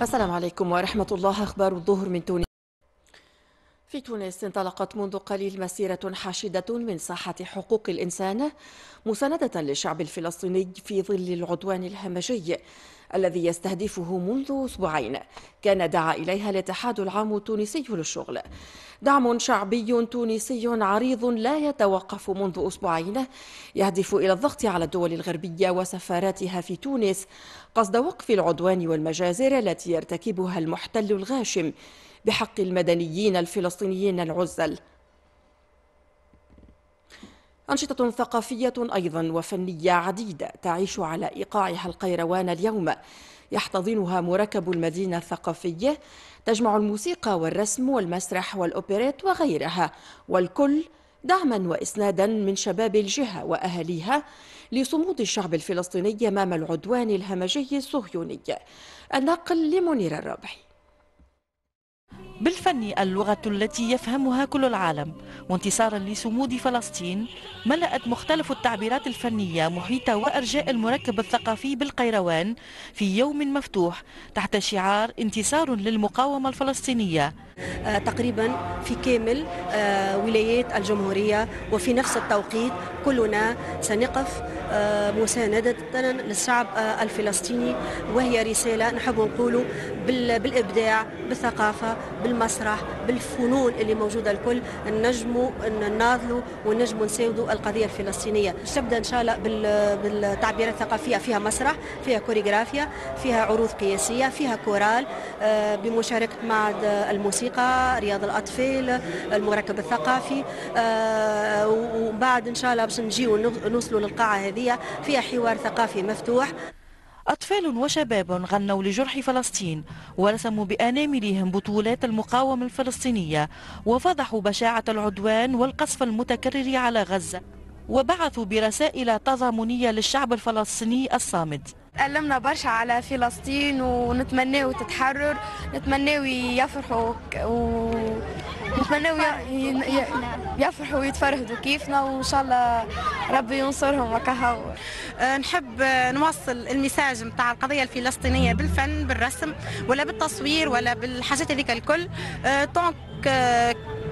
السلام عليكم ورحمة الله. أخبار الظهر من تونس. في تونس انطلقت منذ قليل مسيرة حاشدة من ساحة حقوق الإنسان مساندة للشعب الفلسطيني في ظل العدوان الهمجي الذي يستهدفه منذ أسبوعين، كان دعا إليها الاتحاد العام التونسي للشغل. دعم شعبي تونسي عريض لا يتوقف منذ أسبوعين يهدف إلى الضغط على الدول الغربية وسفاراتها في تونس قصد وقف العدوان والمجازر التي يرتكبها المحتل الغاشم بحق المدنيين الفلسطينيين العزل. أنشطة ثقافية أيضا وفنية عديدة تعيش على إيقاعها القيروان اليوم، يحتضنها مركب المدينة الثقافية، تجمع الموسيقى والرسم والمسرح والأوبريت وغيرها، والكل دعما وإسنادا من شباب الجهة وأهاليها لصمود الشعب الفلسطيني أمام العدوان الهمجي الصهيوني. النقل لمنير الرابحي. بالفن اللغة التي يفهمها كل العالم، وانتصارا لصمود فلسطين ملأت مختلف التعبيرات الفنية محيط وأرجاء المركب الثقافي بالقيروان في يوم مفتوح تحت شعار انتصار للمقاومة الفلسطينية. تقريبا في كامل ولايات الجمهورية وفي نفس التوقيت كلنا سنقف مساندة للشعب الفلسطيني، وهي رسالة نحب نقوله بالإبداع، بالثقافة، بالمسرح، بالفنون اللي موجودة الكل نجموا نناضلوا ونجموا نساندوا القضية الفلسطينية. تبدأ إن شاء الله بالتعبيرات الثقافية، فيها مسرح، فيها كوريغرافيا، فيها عروض قياسية، فيها كورال بمشاركة معهد الموسيقى، رياض الأطفال، المركب الثقافي، وبعد إن شاء الله باش نجيو نوصلوا للقاعة هذه فيها حوار ثقافي مفتوح. أطفال وشباب غنوا لجرح فلسطين ورسموا بأناملهم بطولات المقاومة الفلسطينية وفضحوا بشاعة العدوان والقصف المتكرر على غزة، وبعثوا برسائل تضامنية للشعب الفلسطيني الصامد. تألمنا برشا على فلسطين ونتمناو تتحرر، نتمناو يفرحوا ونتمناو يفرحوا ويتفرهدوا كيفنا، وإن شاء الله ربي ينصرهم وكهو. نحب نوصل ال message نتاع القضية الفلسطينية بالفن، بالرسم، ولا بالتصوير، ولا بالحاجات هذيك الكل،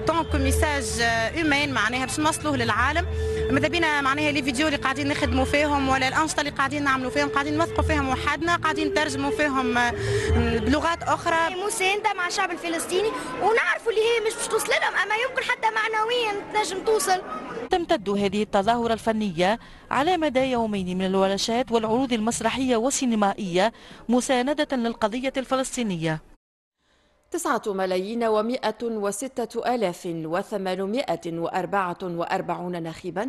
tant que message humain معناها باش نوصلوه للعالم. ماذا بينا معناها les vidéos اللي قاعدين نخدموا فيهم ولا الانشطة اللي قاعدين نعملوا فيهم قاعدين نوثقوا فيهم وحدنا، قاعدين نترجموا فيهم بلغات اخرى. مساندة مع الشعب الفلسطيني، ونعرفوا اللي هي مش باش توصل لهم، اما يمكن حتى معنويا تنجم توصل. تمتد هذه التظاهرة الفنية على مدى يومين من الورشات والعروض المسرحية والسينمائيه مساندة للقضية الفلسطينية. 9,106,844 ناخبا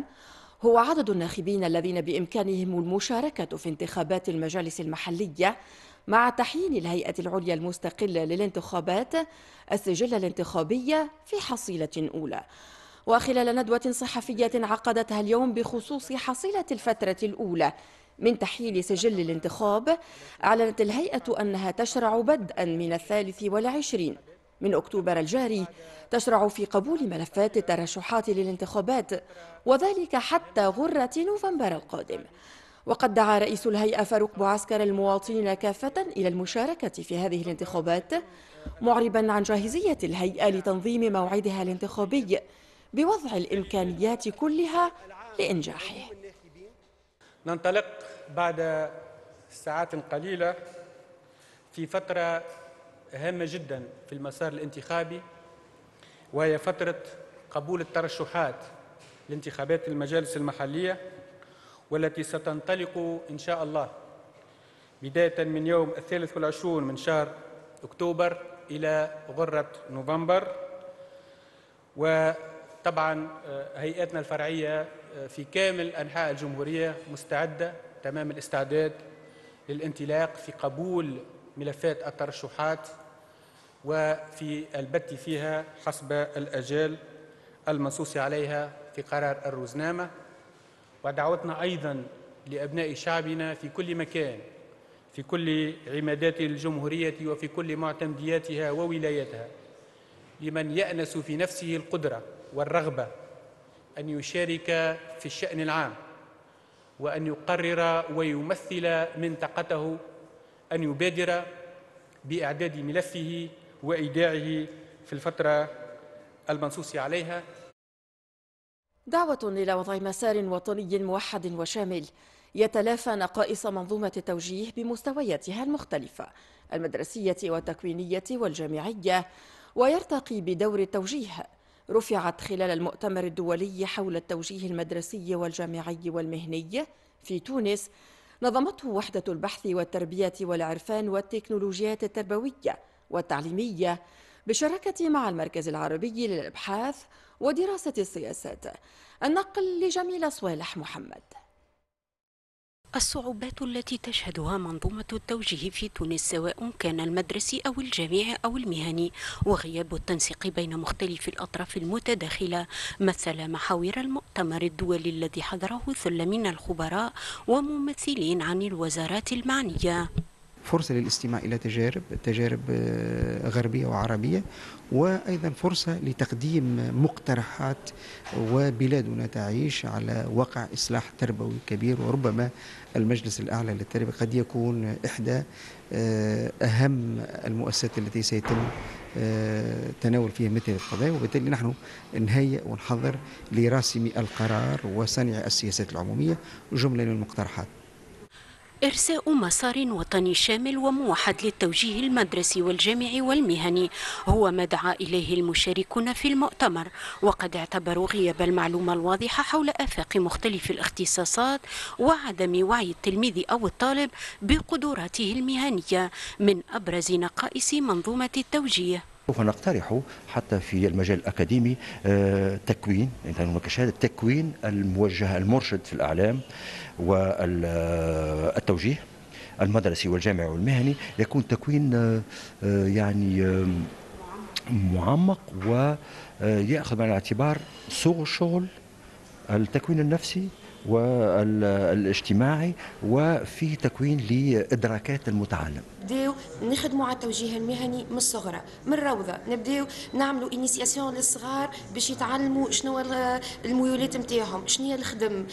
هو عدد الناخبين الذين بإمكانهم المشاركة في انتخابات المجالس المحلية مع تحيين الهيئة العليا المستقلة للانتخابات السجل الانتخابي في حصيلة أولى. وخلال ندوة صحفية عقدتها اليوم بخصوص حصيلة الفترة الأولى من تحيين سجل الانتخاب، أعلنت الهيئة أنها تشرع بدءا من 23 من أكتوبر الجاري تشرع في قبول ملفات الترشحات للانتخابات، وذلك حتى غرة نوفمبر القادم. وقد دعا رئيس الهيئة فاروق بوعسكر المواطنين كافة إلى المشاركة في هذه الانتخابات، معربا عن جاهزية الهيئة لتنظيم موعدها الانتخابي بوضع الإمكانيات كلها لإنجاحه. ننطلق بعد ساعات قليلة في فترة هامة جدا في المسار الانتخابي، وهي فترة قبول الترشحات لانتخابات المجالس المحلية، والتي ستنطلق إن شاء الله بداية من يوم 23 من شهر أكتوبر إلى غرة نوفمبر. وطبعا هيئاتنا الفرعية في كامل أنحاء الجمهورية مستعدة تمام الاستعداد للانطلاق في قبول ملفات الترشحات وفي البت فيها حسب الأجال المنصوص عليها في قرار الرزنامة. ودعوتنا أيضا لأبناء شعبنا في كل مكان، في كل عمادات الجمهورية وفي كل معتمدياتها وولاياتها، لمن يأنس في نفسه القدرة والرغبة أن يشارك في الشأن العام وأن يقرر ويمثل منطقته، أن يبادر بإعداد ملفه وإيداعه في الفترة المنصوص عليها. دعوة إلى وضع مسار وطني موحد وشامل يتلافى نقائص منظومة التوجيه بمستوياتها المختلفة المدرسية والتكوينية والجامعية، ويرتقي بدور التوجيه، رفعت خلال المؤتمر الدولي حول التوجيه المدرسي والجامعي والمهني في تونس، نظمته وحدة البحث والتربية والعرفان والتكنولوجيات التربوية والتعليمية بالشراكة مع المركز العربي للأبحاث ودراسة السياسات. النقل لجميلة صوالح محمد. الصعوبات التي تشهدها منظومة التوجيه في تونس سواء كان المدرسي أو الجامعي أو المهني، وغياب التنسيق بين مختلف الأطراف المتداخلة، مثل محاور المؤتمر الدولي الذي حضره ثلة من الخبراء وممثلين عن الوزارات المعنية. فرصة للاستماع إلى تجارب غربية وعربية، وأيضا فرصة لتقديم مقترحات، وبلادنا تعيش على وقع إصلاح تربوي كبير، وربما المجلس الأعلى للتربية قد يكون إحدى أهم المؤسسات التي سيتم تناول فيها مثل القضايا، وبالتالي نحن نهيئ ونحضر لراسم القرار وصنع السياسات العمومية جملة من المقترحات. إرساء مسار وطني شامل وموحد للتوجيه المدرسي والجامعي والمهني هو ما دعا إليه المشاركون في المؤتمر، وقد اعتبروا غياب المعلومة الواضحة حول آفاق مختلف الاختصاصات وعدم وعي التلميذ أو الطالب بقدراته المهنية من أبرز نقائص منظومة التوجيه. سوف نقترح حتى في المجال الأكاديمي تكوين، هناك شهادة تكوين الموجه المرشد في الأعلام والتوجيه المدرسي والجامعي والمهني، يكون تكوين يعني معمق ويأخذ بعين الاعتبار سوق الشغل، التكوين النفسي والاجتماعي، وفي تكوين لإدراكات المتعلم. نبداو نخدموا على التوجيه المهني من الصغرى، من الروضة، نبداو نعملوا initiation للصغار باش يتعلموا شنو الميولات نتاعهم، شنو هي الخدم،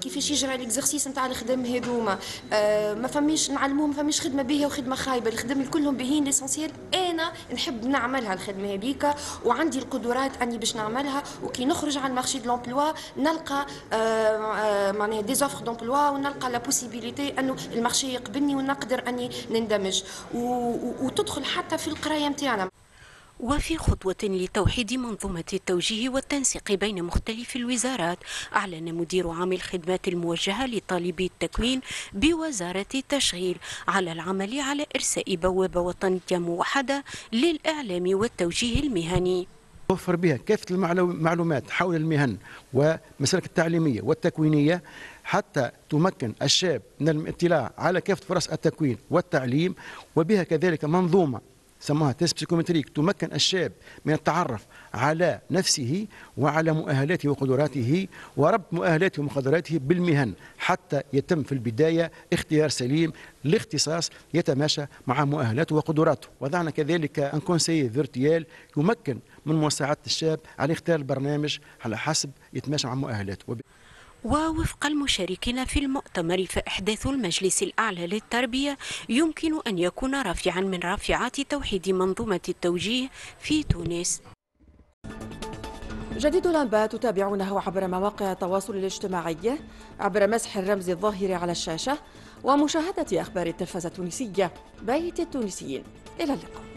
كيفاش يجرى l'exercice نتاع الخدم هذوما، ما فماش نعلموهم، ما فماش خدمة باهيه وخدمه خايبة، الخدم كلهم باهيين، l'essentiel انا نحب نعملها الخدمة هذيك وعندي القدرات اني باش نعملها، وكي نخرج على ال marché de l'emploi نلقى معناها des offres d'emploi ونلقى la possibilité انه ال marché يقبلني ونقدر اني نندمج وتدخل حتى في القراية نتاعنا. وفي خطوة لتوحيد منظومة التوجيه والتنسيق بين مختلف الوزارات، أعلن مدير عام الخدمات الموجهة لطالبي التكوين بوزارة التشغيل على العمل على إرساء بوابة وطنية موحدة للإعلام والتوجيه المهني. توفر بها كافة المعلومات حول المهن والمسالك التعليمية والتكوينية حتى تمكن الشاب من الاطلاع على كافة فرص التكوين والتعليم، وبها كذلك منظومة سموها test psychométrique تمكن الشاب من التعرف على نفسه وعلى مؤهلاته وقدراته وربط مؤهلاته ومقدراته بالمهن حتى يتم في البداية اختيار سليم لاختصاص يتماشى مع مؤهلاته وقدراته. وضعنا كذلك un conseiller virtuel يمكن من مساعدة الشاب على اختيار البرنامج على حسب يتماشى مع مؤهلاته. ووفق المشاركين في المؤتمر فإحداث المجلس الأعلى للتربية يمكن أن يكون رافعا من رافعات توحيد منظومة التوجيه في تونس. جديد الأنباء تتابعونه عبر مواقع التواصل الاجتماعي، عبر مسح الرمز الظاهر على الشاشة، ومشاهدة أخبار التلفزة التونسية بيت التونسيين. إلى اللقاء.